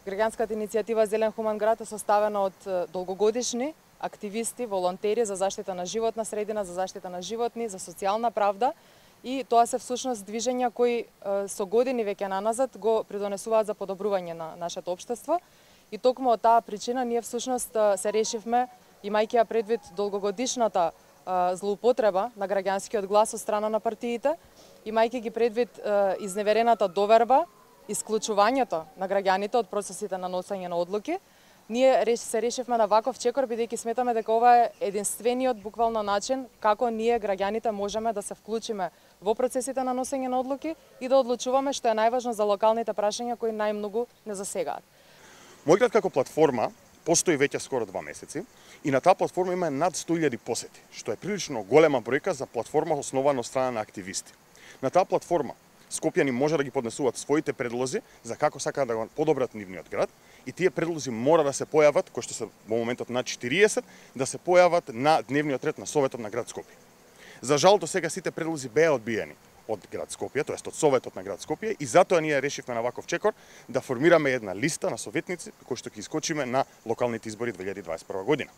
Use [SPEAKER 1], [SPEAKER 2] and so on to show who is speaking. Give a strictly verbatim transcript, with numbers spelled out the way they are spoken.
[SPEAKER 1] Граѓанската иницијатива Зелен хуман град е составена од долгогодишни активисти, волонтери за заштита на животна средина, за заштита на животни, за социјална правда, и тоа се всушност движења кои со години веќе наназад го придонесуваат за подобрување на нашето општество. И токму од таа причина ние всушност се решивме, имајќи ја предвид долгогодишната злоупотреба на граѓанскиот глас од страна на партиите, имајќи ги предвид изневерената доверба, исклучувањето на граѓаните од процесите на носење на одлуки, ние се решивме на ваков чекор, бидејќи сметаме дека ова е единствениот буквално начин како ние граѓаните можеме да се вклучиме во процесите на носење на одлуки и да одлучуваме што е најважно за локалните прашања кои најмногу не засегаат.
[SPEAKER 2] Мој град како платформа постои веќе скоро два месеци и на таа платформа има над сто илјади посети, што е прилично голема бројка за платформа основана од страна на активисти. На таа платформа скопјани може да ги поднесуваат своите предлози за како сакаат да го подобрат нивниот град, и тие предлози мора да се појават, кои што се во моментот над четириесет, да се појават на дневниот ред на Советот на град Скопје. За жал до сега сите предлози беа одбиени од град Скопје, тоест од Советот на град Скопје, и затоа ние решивме на ваков чекор да формираме една листа на советници кои што ќе искочиме на локалните избори две илјади дваесет и прва година.